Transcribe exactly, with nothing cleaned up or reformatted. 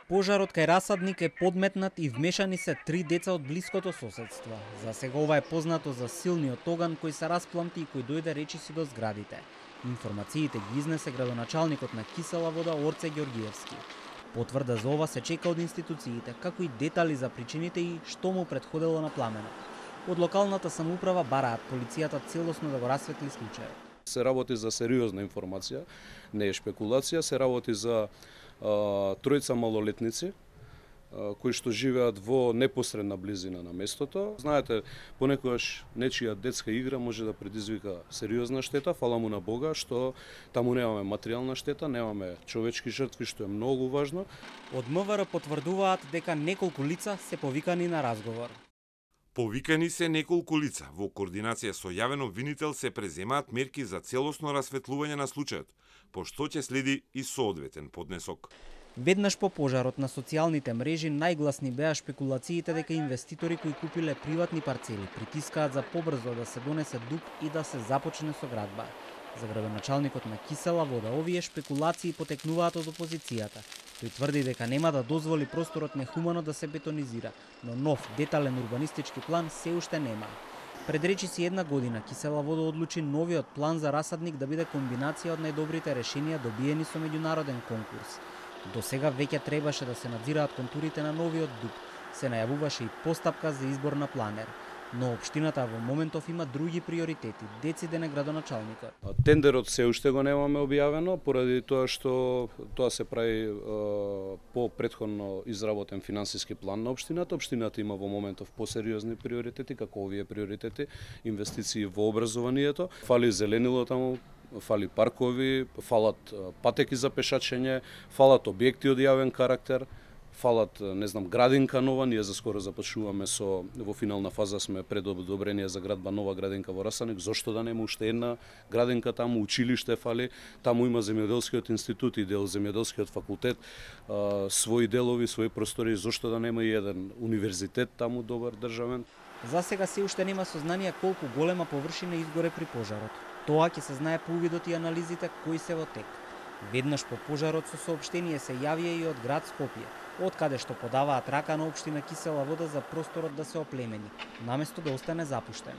Пожарот кај расадник е подметнат и вмешани се три деца од блиското соседство. За сега ова е познато за силниот оган кој се распламти и кој дојде речиси до зградите. Информациите ги изнесе градоначалникот на Кисела Вода Орце Ѓоргиевски. Потврда за ова се чека од институциите, како и детали за причините и што му претходело на пламенот. Од локалната самоуправа бараат полицијата целосно да го расветли случајот. Се работи за сериозна информација, не е шпекулација, се работи за а, тројца малолетници а, кои што живеат во непосредна близина на местото. Знаете, понекогаш нечија детска игра може да предизвика сериозна штета, фала му на Бога што таму немаме материјална штета, немаме човечки жртви, што е многу важно. Од МВР потврдуваат дека неколку лица се повикани на разговор. Повикани се неколку лица. Во координација со јавен обвинител се преземаат мерки за целосно расветлување на случајот, по што ќе следи и соодветен поднесок. Веднаш по пожарот на социјалните мрежи најгласни беа шпекулациите дека инвеститори кои купиле приватни парцели притискаат за побрзо да се донесе ДУП и да се започне со градба. За градоначалникот на Кисела Вода овие шпекулации потекнуваат од опозицијата. Тој тврди дека нема да дозволи просторот нехумано да се бетонизира, но нов детален урбанистички план се уште нема. Пред речиси една година Кисела Вода одлучи новиот план за расадник да биде комбинација од најдобрите решенија добиени со меѓународен конкурс. До сега веќе требаше да се надзираат контурите на новиот ДУП. Се најавуваше и постапка за избор на планер. Но општината во моментов има други приоритети, дециде на градоначалникот. Тендерот се уште го немаме објавено, поради тоа што тоа се прави е, по претходно изработен финансиски план на општината. Општината има во моментов посериозни приоритети, како овие приоритети, инвестиции во образованието. Фали зеленило таму, фали паркови, фалат патеки за пешачење, фалат објекти од јавен карактер, фалат, не знам, градинка нова. Ние заскоро започнуваме со, во финална фаза сме пред одобрение за градба нова градинка во Расадник. Зошто да нема уште една градинка таму, училиште фали, таму има земјоделскиот институт и дел земјоделскиот факултет, а, своји делови, своји простори, зошто да нема и еден универзитет таму добар државен. За сега се уште нема сознание колку голема површина изгоре при пожарот. Тоа ќе се знае по увидот и анализите кои се во тек. Веднаш по пожарот со соопштение се јавија и од град Скопје, од каде што подаваат рака на општина Кисела Вода за просторот да се оплемени, наместо да остане запуштен.